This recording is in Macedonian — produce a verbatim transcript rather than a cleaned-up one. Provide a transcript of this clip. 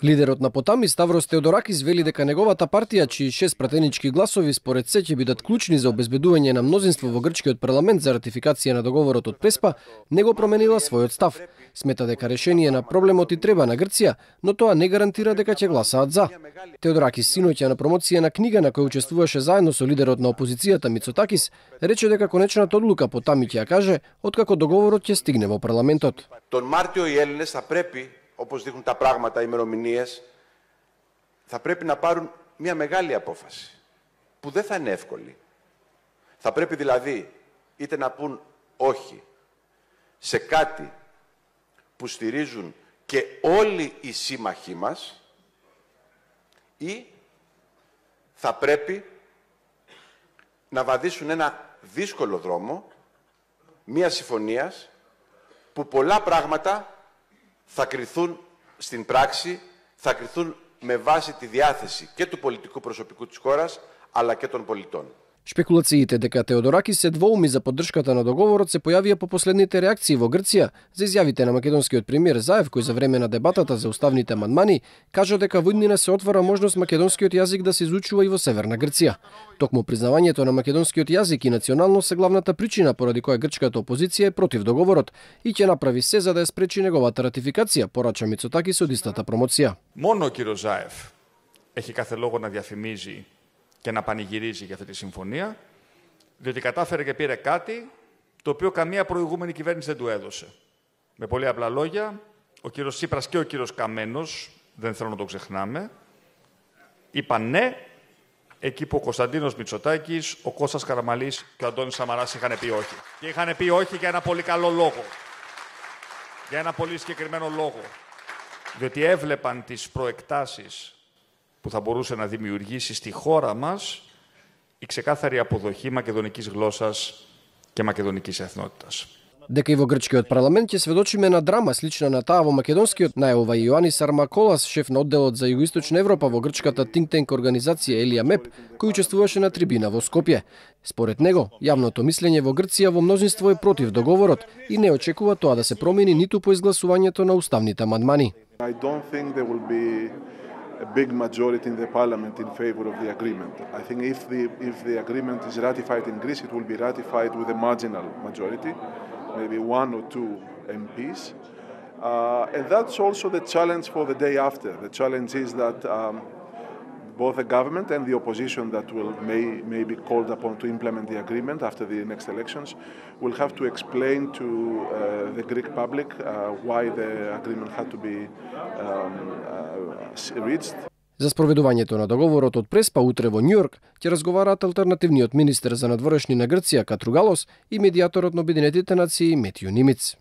Лидерот на Потами Ставрос Теодоракис вели дека неговата партија, чии шест пратенички гласови според се ќе бидат клучни за обезбедување на мнозинство во грчкиот парламент за ратификација на договорот од Преспа, не го променила својот став. Смета дека решение на проблемот и треба на Грција, но тоа не гарантира дека ќе гласаат за. Теодоракис синоќа на промоција на книга на која учествуваше заедно со лидерот на опозицијата Мицотакис, рече дека конечната одлука Потами ќе ја каже откако договорот ќе стигне во парламентот. Τον Μάρτιο οι Έλληνες θα πρέπει, όπως δείχνουν τα πράγματα, οι ημερομηνίες, θα πρέπει να πάρουν μια μεγάλη απόφαση, που δεν θα είναι εύκολη. Θα πρέπει δηλαδή είτε να πούν όχι σε κάτι που στηρίζουν και όλοι οι σύμμαχοί μας, ή θα πρέπει να βαδίσουν ένα δύσκολο δρόμο μια συμφωνίας που πολλά πράγματα θα κριθούν στην πράξη, θα κριθούν με βάση τη διάθεση και του πολιτικού προσωπικού της χώρας, αλλά και των πολιτών. Шпекулациите дека Теодоракис се двоуми за поддршката на договорот се појавија по последните реакции во Грција за изјавите на македонскиот премиер Заев, кој за време на дебатата за уставните амандмани кажа дека во иднина се отвара можност македонскиот јазик да се изучува и во Северна Грција. Токму признавањето на македонскиот јазик и националност се главната причина поради која грчката опозиција е против договорот и ќе направи се за да ја спречи неговата ратификација, порача Мицотакис од истата промоција. Μόνο ο κύριος Ζάεφ έχει κάθε λόγο να διαφημίζει και να πανηγυρίζει για αυτή τη συμφωνία, διότι κατάφερε και πήρε κάτι το οποίο καμία προηγούμενη κυβέρνηση δεν του έδωσε. Με πολύ απλά λόγια, ο κύριος Τσίπρας και ο κύριος Καμένος, δεν θέλω να το ξεχνάμε, είπαν ναι, εκεί που ο Κωνσταντίνος Μητσοτάκης, ο Κώστας Καραμανλής και ο Αντώνης Σαμαράς είχαν πει όχι. Και είχαν πει όχι για ένα πολύ καλό λόγο. Για ένα πολύ συγκεκριμένο λόγο. Διότι έβλεπαν τις προεκτάσεις που θα μπορούσε να δημιουργήσει στη χώρα μας η ξεκάθαρη αποδοχή μακεδονικής γλώσσας και μακεδονικής εθνότητας. Дека и во грчкиот парламент ќе сведочиме на драма слична на таа во македонскиот, најава и Јоанис Армаколас, шеф на одделот за Југоисточна Европа во грчката think tank организација Елија Меп, кој учествуваше на трибина во Скопје. Според него, јавното мислење во Грција во мнозинство е против договорот и не очекува тоа да се промени ниту по изгласувањето на уставните амандмани. I don't think there will be a big majority in the parliament in favor of the agreement. I think if the if the agreement is ratified in Greece, it will be ratified with a marginal majority, maybe one or two M Ps. Uh, and that's also the challenge for the day after. The challenge is that um, both the government and the opposition that will may, may be called upon to implement the agreement after the next elections will have to explain to uh, the Greek public uh, why the agreement had to be um, uh, reached. За спроведувањето на договорот од Преспа утре во Њујорк ќе разговараат алтернативниот министер за надворешни на Грција Катругалос и медијаторот на Обединетите нации Метју Нимиц.